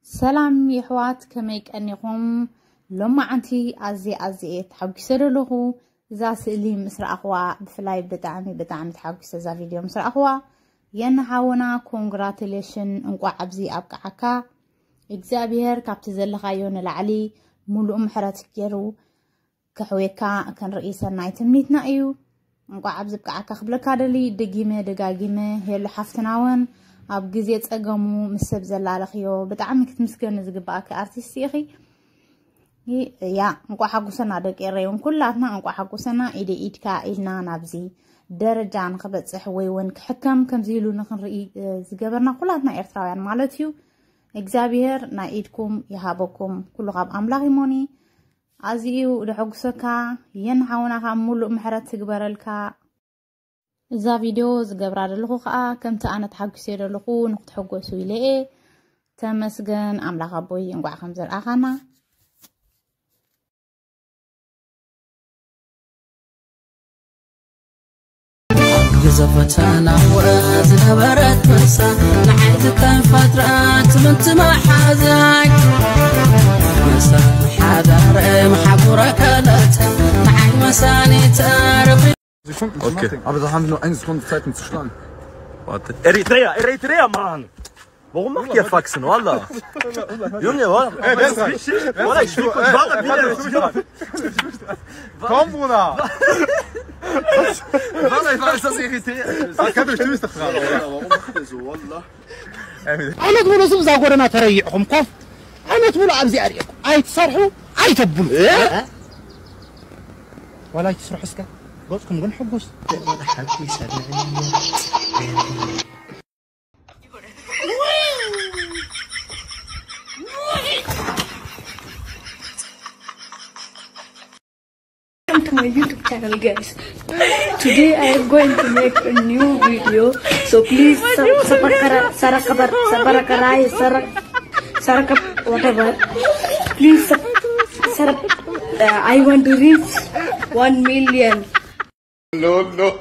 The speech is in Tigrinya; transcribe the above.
ሰላም የሕዋት፣ ከመይ ቀኒኹም? ሎማዓንቲ ኣዝየ ኣዝየ ተሓጒሰ ዘለኹ። እዛ ስእሊ ምስ ረኣኽዋ ብፍላይ ብጣዕሚ ብጣዕሚ ተሓጒሰ፣ እዛ ቪድዮ ምስ ረኣኽዋ። የነ ሓውና፣ ኮንግራቱሌሽን፣ እንቋዕ ኣብዚ ኣብቅዓካ። እግዚኣብሄር ካብቲ ዘለኻዮ ንላዕሊ ሙሉእ ምሕረት ገይሩ ከሕውየካ ክንርኢ ሰናይ ትምኒትና እዩ። እንቋዕ ኣብዚ ብቅዓካ ክብለካ ደሊ፣ ደጊመ ደጋጊመ። ሄሉ ሓፍትና እውን ኣብ ግዜ ጸገሙ ምስ ሰብ ዘላለኽዮ ብጣዕሚ ክትምስገኒ ዝግባኣኪ ኣርቲስት ኢኺ። ያ፣ እንቋዕ ሓጉሰና ደቂ ኤረይ እውን ኩላትና እንቋዕ ሓጉሰና። ኢደ ኢድካ ኢልና ናብዚ ደረጃ ንኽበጽሕ ወይ እውን ክሕከም ከምዚ ኢሉ ንኽንርኢ፣ እ፣ ዝገበርና ኩላትና ኤርትራውያን ማለት እዩ። እግዚኣብሄር ናይ ኢድኩም ይሃበኩም። ኩሉ ካብ ኣምላኽ ይሞኒ። ኣዝዩ ደሐጉሰካ። የን ሓውና ካብ ሙሉእ ምሕረት ትግበረልካ። እዛ ቪድዮ ዝገብራ ዘለኹ ከኣ ከምቲ ኣነ ተሓጒሰ ዘለኹ ንክትሕጎሱ ኢለ እየ። ተመስገን ኣምላኽ ኣቦይ፣ እንቋዕ ከም ዘርኣኻና። ግዘ ፈተና ዝነበረት ምሳ ንዓይ ትተፈጥራ ትምንቲ መሓዛይ ምሳ ሓዳረ መሓጉረ ከለተ ንዓይ መሳኒ ተርፊ Sekunde, okay. Aber da haben wir nur eine Sekunde Zeit, um zu schlagen. Warte. Eritrea, Eritrea, Mann! Warum macht ihr Faxen, Wallah? Junge, Wallah. Ey, wer ist das? Wallah, ich will kurz Wallah, wieder. Komm, Bruder! Wallah, ich weiß, dass Eritrea ist. Das kann bestimmt nicht dran, oder? Warum macht ihr so, Wallah? ዓመት ሙሉ እዛ ጎደና ተረይዕኹም ኮፍ ዓመት ሙሉ ኣብዚ ኣርእኹም ኣይትሰርሑ ኣይተብሉ ዋላ ኣይትስርሑ እስከ ገፅኩም ግን ሕጉስ Welcome to my YouTube channel, guys. Today I am going to make a new video, so please sub- subscribe, subscribe, subscribe, subscribe, whatever. Please sub- subscribe. Uh, I want to reach one million. No, no.